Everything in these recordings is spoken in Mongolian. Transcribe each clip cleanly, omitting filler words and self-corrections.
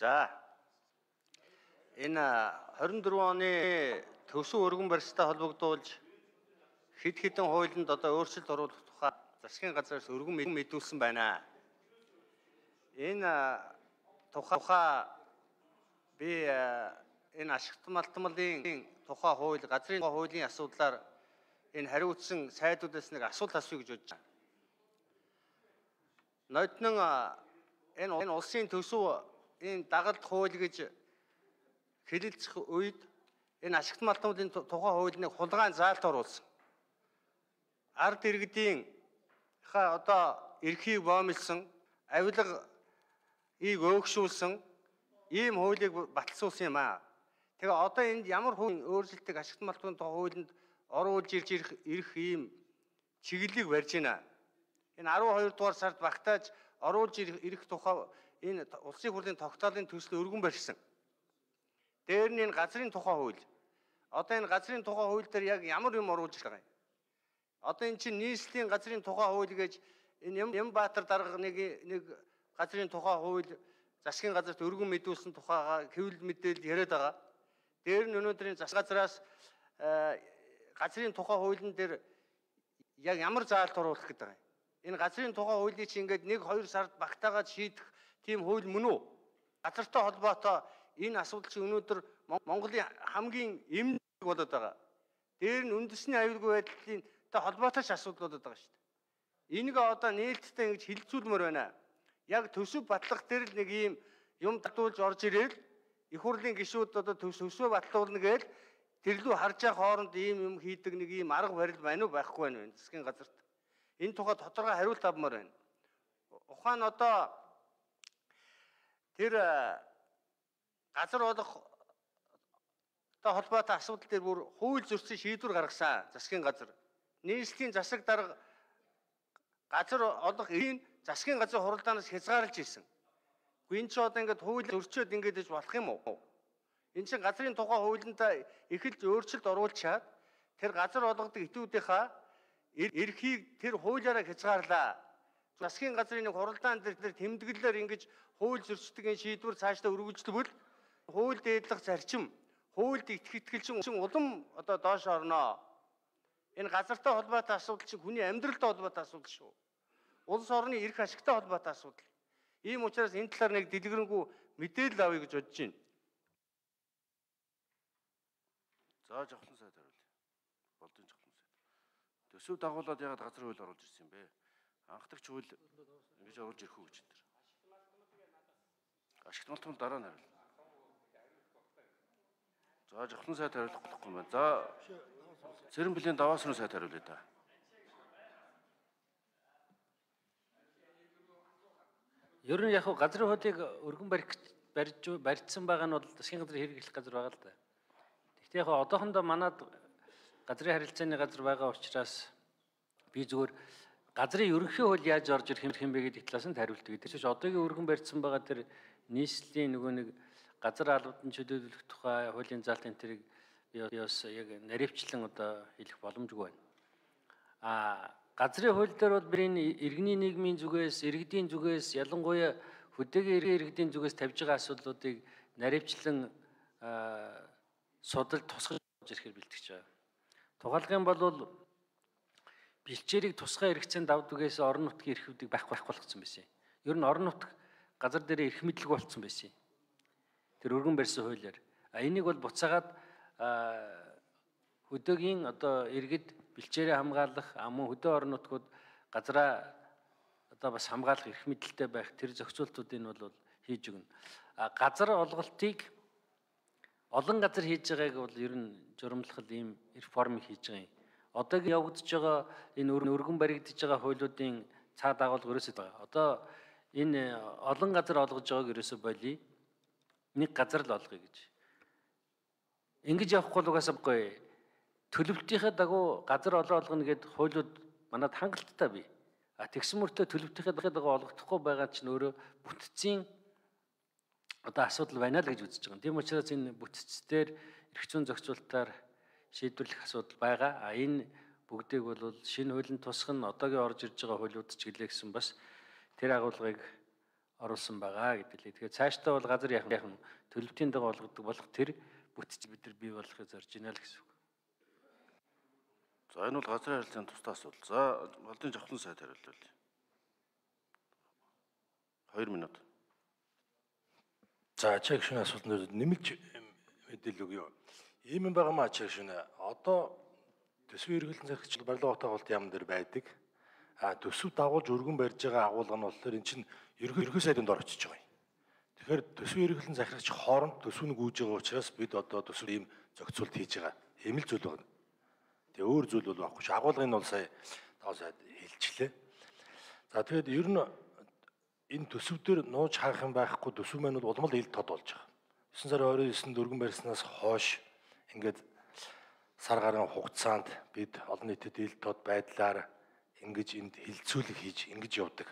За энэ 24 оны төвшин өргөн барьцтай холбогдуулж хэд хэдэн хуулинд одоо өөрчлөлт оруулах тухай засгийн газраас өргөн мэдүүлсэн байна. Энэ тухай би энэ ашигт малтмалын тухай хууль, газрын хуулийн асуудлаар энэ хариуцсан сайдуудаас нэг асуулт асууя гэж бодож байна. Нойтнон энэ улсын төсөв энэ дагалт хууль гэж хэлэлцэх үед энэ ашигт малтмалын тухай хуулийг хулгайн заалт оруулсан. Ард иргэдийн одоо эрхийг боомлсон, авилга өөгшүүлсэн ийм хуулийг баталсуулсан юм аа. Тэгээ одоо энд ямар хуулийн өөрчлөлтийг ашигт малтмалын тухай хуулинд оруулж ирэх ийм чиглэлийг барьж байна. Энэ 12 дугаар сард багтааж оруулж ирэх тухай энэ улсын хурлын тогтоолын төсөл өргөн барьсан. Дээр нь энэ газрын тухай хууль. Одоо энэ газрын тухай хууль дээр яг ямар юм оруулж байгаа юм? Одоо энэ чинь нийслэлийн газрын тухай хууль гэж энэ Ямбаатар дарга нэг газрын тухай хууль засгийн газарт өргөн мэдүүлсэн тухайга хэвлэл мэдээлэл яриад байгаа. Дээр нь өнөөдрийн засгийн газраас газрын тухай хуулийн дээр яг ямар заалт оруулах гэдэг юм? Энэ газрын тухай хуулийг чи ингээд 1-2 сард багтаагаад шийдэх тийм хууль мөн үү? Газартай холбоотой энэ асуудал чи өнөөдөр Монголын хамгийн эмнэлэг болоод байгаа. Дээр нь үндэсний аюулгүй байдлын холбоотой ч асуудал болоод байгаа шүү дээ. Энийг одоо нээлттэй ингэж хилцүүлмээр байна. Яг төсөв батлах дээр л нэг ийм юм татуулж орж ирэл их хурлын гишүүд одоо төсвөө батлуулна гээл тэрлүү харж явах хооронд ийм юм хийдэг нэг ийм арга барил байна уу байхгүй байна вэ засгийн газарт. Энэ тухай тодорхой хариулт авмаар байна. Ухаан одоо тэр газар олох холбоотой асуудал дээр бүр хууль зөрчил шийдвэр гаргасан засгийн газар. Нийслэлийн засаг дарга газар олох эрхийг засгийн газрын хуралдаанаас хязгаарлаж ирсэн. Гүн ч одоо ингээд хууль зөрчөөд ингээд иж болох юм уу? Энэ чинь газрын тухай хуулинд эхэлж өөрчлөлт оруулчаад тэр газар олгодог этүүдийнхаа эрхийг тэр хуулиараа хязгаарлаа. Засгийн газрын нэг хуралдаан дээр тэмдэглэлээр ингэж хууль зөрчдгийн шийдвэр цаашдаа үргэлжлэвэл хууль дээдлэх зарчим, хуульд итгэлчин улам одоо доош орноо. Энэ газартай холбоотой асуудал чинь хүний амьдралтай холбоотой асуудал шүү. Улс орны эрх ашигтай холбоотой асуудал. Ийм учраас энэ талаар нэг дэлгэрэнгүй мэдээлэл авъя гэж бодож байна. За жавхлан сайд хариулъя. Болдын жавхлан сайд. Төсөв дагуулад ягаад газар хууль оруулж ирсэн юм бэ? Анхдагч хууль ингэж оруулж ирэх үү гэж энэ. Ашигт малтмал дараа нь хариулна. За жавхлан сайд хариулах болохгүй юм байна. За Цэрэн бүлийн даваас руу сайд хариулъя та. Ер нь яг газрын хуулийг өргөн барьсан байгаа нь бол засгийн газрын хэрэглэх газар байгаа л да. Гэхдээ яг одоохондоо манад газрын харилцааны газар байгаа учраас би зүгээр газрын ерөнхий хууль яаж орж ирэх юм бэ гэдэг талаас нь хариулдаг. Тэр чинь одоогийн өргөн барьсан байгаа тэр нийслэлийн нөгөө нэг газар албадан чөлөөлөх тухай хуулийн заалт энэ тэрийг яс яг наривчлан одоо хэлэх боломжгүй байна. Газрын хууль дээр бол бидний иргэний нийгмийн зүгээс, иргэдийн зүгээс, ялангуяа хөдөөгийн иргэдийн зүгээс тавьж байгаа асуудлуудыг наривчлан судалж тусгаж ирэхээр бэлтгэж байгаа. Тухайлбал бол бэлчээрийг тусгай эрхцээнд давдгээс орон нутгийн эрхүүдийг байх болгоцсон байсан. Ер нь орон нутг газар дээр эрх мэдлэг болцсон байсан. Тэр өргөн барьсан хуулиар. Энийг бол буцаагаад хөдөөгийн одоо иргэд бэлчээрээ хамгаалах, мөн хөдөө орон нутгууд газраа одоо бас хамгаалах эрх мэдэлтэй байх тэр зохицуултуудыг бол хийж өгнө. Газар олголтыг олон газар хийж байгааг бол ер нь журамлах ийм реформ хийж байгаа юм. Одоогийн явагдаж байгаа энэ өргөн баригдаж байгаа хуулиудын цаа дагуулга ерөөсөө байгаа. Одоо энэ олон газар олгож байгааг ерөөсөө болий. Нэг газар л олгоё гэж. Ингэж явахгүй л угаасаа гоё. Төлөвлөлтийнхээ дагуу газар олгоно гэдэг хуулиуд манад хангалттай бий. Тэгсэн мөртөө төлөвлөлтийнхээ дагуу олгохдохгүй байгаа чинь өөрөө бүтцийн одоо асуудал байна л гэж үзэж байгаа. Тийм учраас энэ бүтцээр эрх зүйн зохицуулалтаар шийдвэрлэх асуудал байгаа. Энэ бүгдийг бол шинэ хуулийн тусах нь одоогийн орж ирж байгаа хуулиуд ч гэлээ гэсэн бас тэр агуулгыг оруулсан байгаа гэдэг лээ. Тэгэхээр цаашдаа бол газар яхан төлөвтийн дагуу олгодог болох тэр бүтц бид нар бий болгохыг зорж байна л гэсэн үг. За энэ бол газрын харилцааны тусдаа асуудал. За Балдын Жавхлан сайд хариулъя. 2 минут. За ачаа гишүүний асуултанд нэмэлт мэдээлэл өгье. Ийм юм байгаа маа ачаа гишүүнэ. Одоо төсвийн эргэлэн захирагч барилга утгуулалт яам дээр байдаг. Төсөв дагуулж өргөн барьж байгаа агуулга нь болохоор эн чинь ерөнхий сайдын дор очиж байгаа юм. Тэгэхээр төсвийн эргэлэн захирагч хооронд төсвийг үүж байгаа учраас бид одоо төсөв ийм зохицуулт хийж байгаа. Ийм л зүйл байна. Тэгээ өөр зүйл бол байхгүй ш. Агуулгын нь бол сая тоо сайд хэлчихлээ. За тэгээд ер нь энэ төсөв дээр нууж хаах юм байхгүй төсөв маань бол улмал ил тод болж байгаа. 9 сарын 29-нд өргөн барьснаас хойш ингээд сар гаруй хугацаанд бид олон нийтэд ил тод байдлаар ингэж энд хилцүүлэг хийж ингэж явдаг.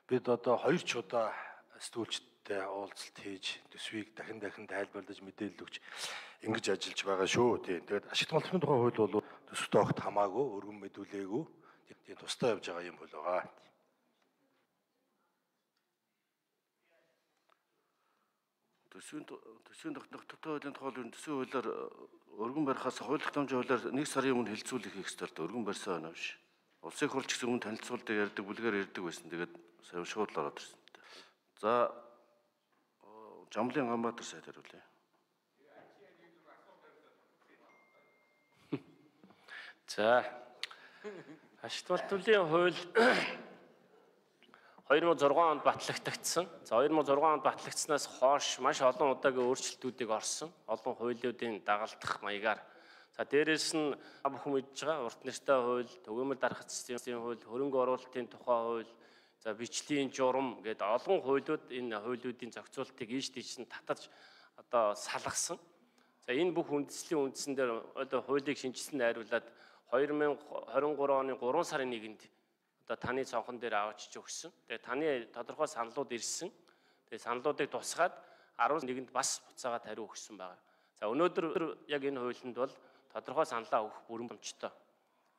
Бид одоо 2 ч удаа сэтгүүлчтэй уулзалт хийж төсвийг дахин тайлбарлаж мэдээлэл өгч ингэж ажиллаж байгаа шүү. Тэгээд ашигт малтын тухай хууль бол төсөвтэй огт хамаагүй өргөн мэдүүлээгүй. Тийм тусдаа явж байгаа юм бол байгаа. Төсвийн тогтвортой хуулийн тухай төсвийн хуулиар өргөн барихаас хууль тогтоомжийн хуулиар 1 сарын өмнө хилцүүлэх хийх ёстой. Өргөн барьсан байна биш. Улсын хурлч гэсэн өмнө танилцуулдаг ярьдаг, бүлгээр ярьдаг байсан. Тэгээд сая шууд л ороод ирсэн. За Жамлын Ганбаатар сайд хариулъя. За ашигт малтуулын хууль 2006 онд батлагдагдсан. За 2006 онд батлагдсанаас хойш маш олон удаагийн өөрчлөлтүүдийг орсон. Олон хуулиудын дагалдах маягаар. За дээрэс нь бүхэн мэдж байгаа урт нэртэй хууль, төгөөмөл дарах цэцгийн хууль, хөрөнгө оруулалтын тухай хууль, за бичлийн журам гэдэг олон хуулиуд энэ хуулиудын зохицуултыг ийш тийш нь татаж одоо салгасан. За энэ бүх үндэслийн үндсэн дээр одоо хуулийг шинжилсэн найруулад 2023 оны 3 сарын 1-нд одоо таны цонхон дээр авчиж өгсөн. Тэгээ таны тодорхой саналууд ирсэн. Тэгээ саналуудыг тусгаад 11-нд бас буцаагаад хариу өгсөн байна. За өнөөдөр яг энэ хуулинд бол тодорхой саналаа өгөх бүрэн боломжтой.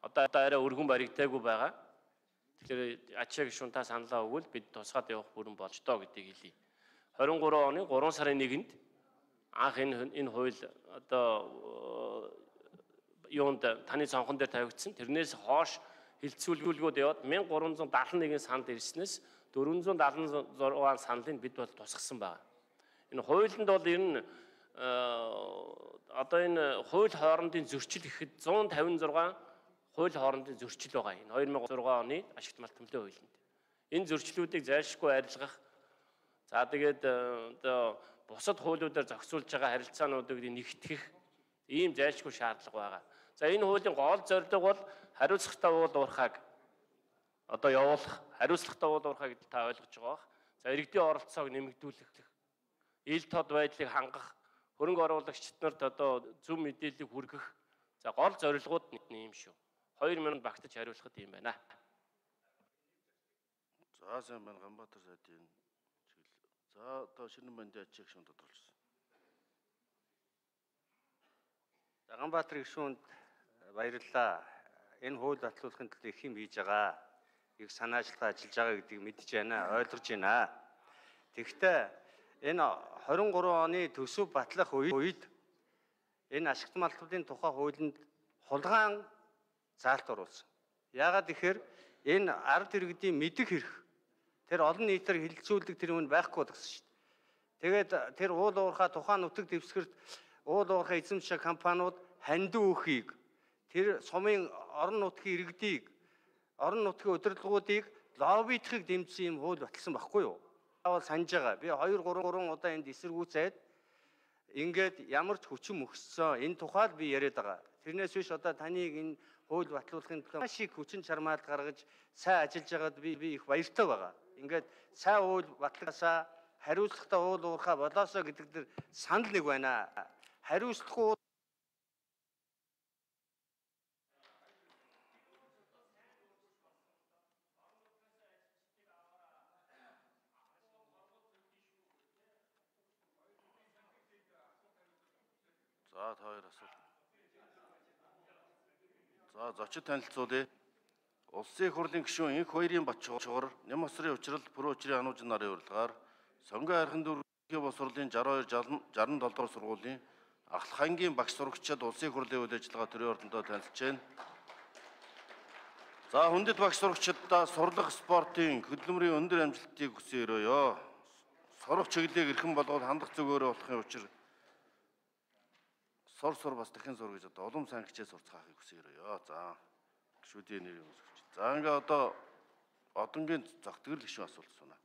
Одоо арай өргөн баригдаагүй байгаа. Тэгэхээр ачаа гишүүн та саналаа өгвөл бид тусгаад явах бүрэн боломжтой гэдгийг хэлье. 23 оны 3 сарын 1-нд анх энэ хууль одоо юунд таны цонхон дээр тавигдсан. Тэрнээс хойш хилцүүлгүүд яваад 1371 санал ирснээс 476 саналыг бид бол тусгасан байна. Энэ хуулинд бол ер нь одоо энэ хууль хоорондын зөрчил гэхэд 156 хууль хоорондын зөрчил байгаа. Энэ 2006 оны ашигт малтмлын хуулинд. Энэ зөрчлүүдийг зайлшгүй арилгах. За тэгээд одоо бусад хуулиудаар зохицуулж байгаа харилцаануудыг нэгтгэх ийм зайлшгүй шаардлага байгаа. За энэ хуулийн гол зорилго бол хариуцлагатай уул уурхайг одоо явуулах, хариуцлагатай уул уурхай гэдгийг та ойлгож байгаа бах. За иргэдийн оролцоог нэмэгдүүлэх, ил тод байдлыг хангах, хөрөнгө оруулагчид нарт одоо зөв мэдээллийг хүргэх. За гол зорилгууд нь юм шүү. 2 минут багтаж хариулахад юм байна. За сайн байна Ганбаатар сайдын чиглэл. За одоо шинэ бандын ачаа гишүүн тодорхойлсон. За Ганбаатар гишүүнд баярлалаа. Энэ хууль батлуулахын тулд их юм хийж байгаа. Их санаачилгаа ажиллаж байгаа гэдгийг мэдж байна, ойлгож байна. Тэгэхдээ энэ 23 оны төсөв батлах үед энэ ашигт малтуудын тухай хуулинд хулгайн заалт оруулсан. Яагаад гэхээр энэ ард иргэдийн мэдэх хэрэг тэр олон нийтээр хилцүүлдэг тэр юм байхгүй гэсэн шүү дээ. Тэгээд тэр уул уурхай тухайн нутаг дэвсгэрт уул уурхай эзэмших компаниуд хандив өгөхийг тэр сумын орон нутгийн иргэдийг орон нутгийн удирдлагуудыг лоббидахыг дэмжсэн юм хууль баталсан байхгүй юу? Таавал санаж байгаа. Би 2-3 удаа энд эсэргүүцээд ингээд ямар ч хүчин мөхссөн энэ тухайд би яриад байгаа. Тэрнээс биш одоо таныг энэ хууль батлуулахын төлөө маш их хүчин чармаалт гаргаж сайн ажиллаж байгаад би их баяртай байгаа. Ингээд сайн хууль батлагаасаа хариуцлагатай уул уурхай болоосоо гэдэг дээр санал нэг байна. Хариуцлагагүй За та хоёр асуулт. За зочид танилцуулъя. Улсын их хурлын гишүүн Инх хоёрын Батчуур, Нямосрын учрал Пүрөөчрийн ануужин нарын урилгаар Сонгон хайрхан дүүргийн боловсролын 67 дугаар сургуулийн Ахлахангийн багш сурагчид улсын их хурлын үйл ажиллагаа төрийн ордондоо танилцж байна. За хүндэт багш сурагчдаа сурлах спортын хөдөлмөрийн өндөр амжилтыг хүсэн өрөөё. Сурах чиглэлийг эрхэм болгоод хандах зөвгөөрөө болохын учир сур бас дахин сур гэж одоо улам сайн хичээл сурцгаахыг хүсэн өрөөё. За гишүүдийн нэрийн үсгч. За ингээ одоо одонгийн зохицгол гишүүн асуулт асууна.